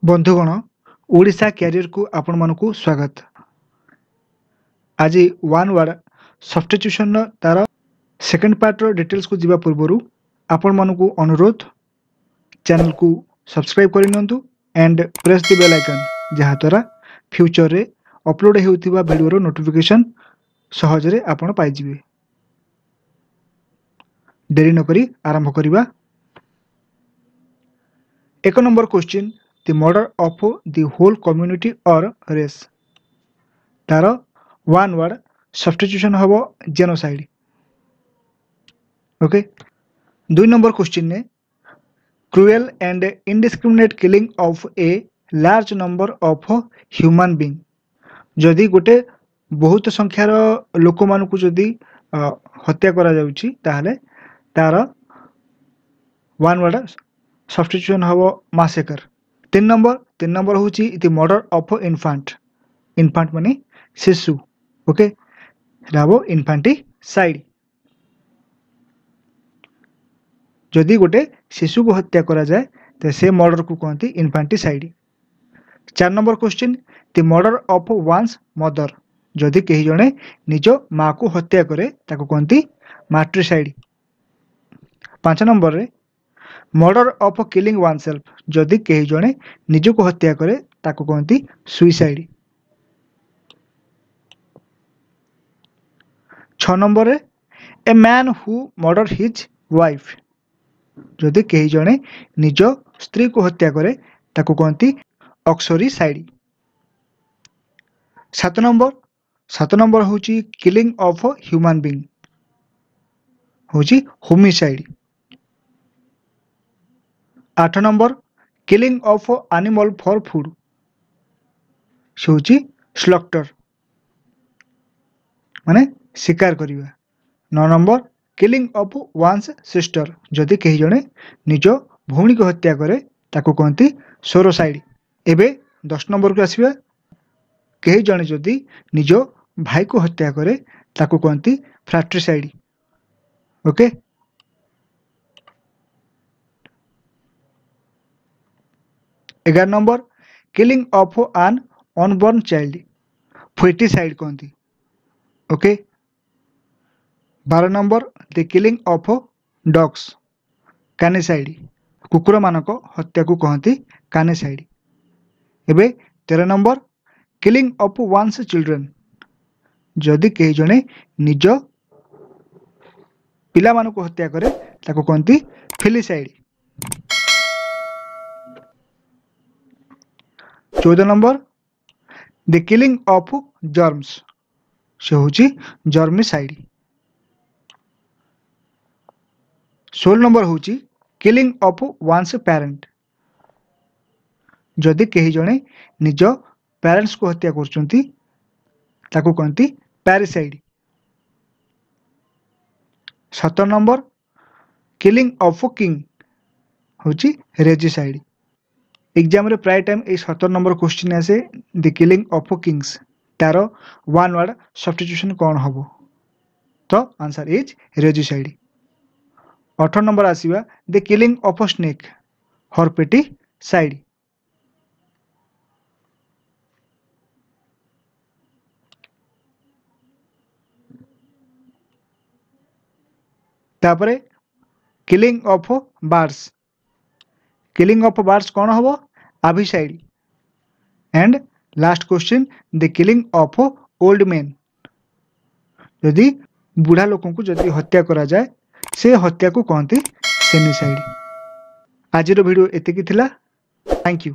ବନ୍ଧୁଗଣ, ଓଡ଼ିଶା କ୍ୟାରିୟରକୁ ଆପଣମାନଙ୍କୁ ସ୍ୱାଗତ। ଆଜି ୱାନ୍ ୱାର୍ଡ଼ ସବଷ୍ଟିଚ୍ୟୁସନ୍ର ତାର ସେକେଣ୍ଡ ପାର୍ଟର ଡିଟେଲ୍ସକୁ ଯିବା ପୂର୍ବରୁ ଆପଣମାନଙ୍କୁ ଅନୁରୋଧ, ଚ୍ୟାନେଲକୁ ସବସ୍କ୍ରାଇବ୍ କରିନିଅନ୍ତୁ and press the bell icon, ଯାହାଦ୍ୱାରା ଫ୍ୟୁଚରରେ ଅପଲୋଡ଼ ହେଉଥିବା ଭିଡ଼ିଓର ନୋଟିଫିକେସନ୍ ସହଜରେ ଆପଣ ପାଇଯିବେ। ଡେରି ନକରି ଆରମ୍ଭ କରିବା। 1 number question, the murder of the whole community or race. ତାର ୱାନ୍ ୱାର୍ଡ଼ ସବଷ୍ଟିଚ୍ୟୁସନ୍ ହେବ ଜେନୋସାଇଡ୍। ଓକେ, 2 ନମ୍ବର କ୍ୱେଶ୍ଚିନ୍ରେ cruel and indiscriminate killing of a large number of human being. ଯଦି ଗୋଟେ ବହୁତ ସଂଖ୍ୟାର ଲୋକମାନଙ୍କୁ ଯଦି ହତ୍ୟା କରାଯାଉଛି, ତାହେଲେ ତାର ୱାନ୍ ୱାର୍ଡ଼ ସବଷ୍ଟିଚ୍ୟୁସନ୍ ହେବ ମାସେକର। 3 ନମ୍ବର ହେଉଛି the murder of infant. Infant ମାନେ ଶିଶୁ। ଓକେ, ସେଟା ହେବ ଇନଫାଣ୍ଟିସାଇଡ୍। ଯଦି ଗୋଟେ ଶିଶୁକୁ ହତ୍ୟା କରାଯାଏ ତ ସେ ମର୍ଡରକୁ କହନ୍ତି ଇନଫାଣ୍ଟିସାଇଡ୍। 4 number question, the murder of one's mother. ଯଦି କେହି ଜଣେ ନିଜ ମାଆକୁ ହତ୍ୟା କରେ ତାକୁ କହନ୍ତି ମାଟ୍ରିସାଇଡ୍। 5 ନମ୍ବରରେ murder of killing one self. ଯଦି କେହି ଜଣେ ନିଜକୁ ହତ୍ୟା କରେ ତାକୁ କହନ୍ତି ସୁଇସାଇଡ୍। 6 ନମ୍ବରରେ a man who murder his wife. ଯଦି କେହି ଜଣେ ନିଜ ସ୍ତ୍ରୀକୁ ହତ୍ୟା କରେ ତାକୁ କହନ୍ତି ଅକ୍ସରିସାଇଡ୍। 7 ନମ୍ବର ହେଉଛି କିଲିଂ ଅଫ୍ ହ୍ୟୁମାନ୍ ବିଙ୍ଗ, ହେଉଛି ହୋମିସାଇଡ୍। 8 number killing of animal for food, ସେ ହେଉଛି ସ୍ଲଟର, ମାନେ ଶିକାର କରିବା। 9 number killing of one's sister. ଯଦି କେହି ଜଣେ ନିଜ ଭଉଣୀକୁ ହତ୍ୟା କରେ ତାକୁ କହନ୍ତି ସୋରୋସାଇଡ୍। ଏବେ 10 ନମ୍ବରକୁ ଆସିବା। କେହି ଜଣେ ଯଦି ନିଜ ଭାଇକୁ ହତ୍ୟା କରେ ତାକୁ କହନ୍ତି fratricide. Okay, 11 number killing of an unborn child, foeticide କହନ୍ତି। Okay, 12 number the killing of dogs, canicide. କୁକୁରମାନଙ୍କ ହତ୍ୟାକୁ କହନ୍ତି କାନିସାଇଡ୍। ଏବେ 13 number killing of one's children. ଯଦି କେହି ଜଣେ ନିଜ ପିଲାମାନଙ୍କୁ ହତ୍ୟା କରେ ତାକୁ କହନ୍ତି ଫିଲିସାଇଡ୍। 14 number the killing of germs, ସେ ହେଉଛି ଜର୍ମିସାଇଡ୍। 16 ନମ୍ବର ହେଉଛି କିଲିଂ ଅଫ୍ ୱାନ୍ସ ପ୍ୟାରେଣ୍ଟ। ଯଦି କେହି ଜଣେ ନିଜ ପ୍ୟାରେଣ୍ଟସକୁ ହତ୍ୟା କରୁଛନ୍ତି ତାକୁ କହନ୍ତି ପ୍ୟାରିସାଇଡ୍। 17 ନମ୍ବର କିଲିଂ ଅଫ୍ କିଙ୍ଗ ହେଉଛି ରେଜିସାଇଡ୍। ଏକ୍ଜାମ୍ରେ ପ୍ରାୟ ଟାଇମ୍ ଏଇ 17 ନମ୍ବର କ୍ୱେଶ୍ଚିନ୍ ଆସେ, ଦି କିଲିଂ ଅଫ୍ କିଙ୍ଗସ୍, ତାର ୱାନ୍ ୱାର୍ଡ଼ ସବଷ୍ଟିଚ୍ୟୁସନ୍ କ'ଣ ହେବ? ତ ଆନ୍ସର୍ is ରେଜିସାଇଡ୍। 18 ନମ୍ବର ଆସିବା, the killing of snake, herpeticide. ତାପରେ killing of birds, killing of birds କ'ଣ ହେବ? Avicide. And last question, the killing of old men. ଯଦି ବୁଢ଼ା ଲୋକଙ୍କୁ ଯଦି ହତ୍ୟା କରାଯାଏ ସେ ହତ୍ୟାକୁ କହନ୍ତି ସେନିସାଇଡ୍। ଆଜିର ଭିଡ଼ିଓ ଏତିକି ଥିଲା। Thank you.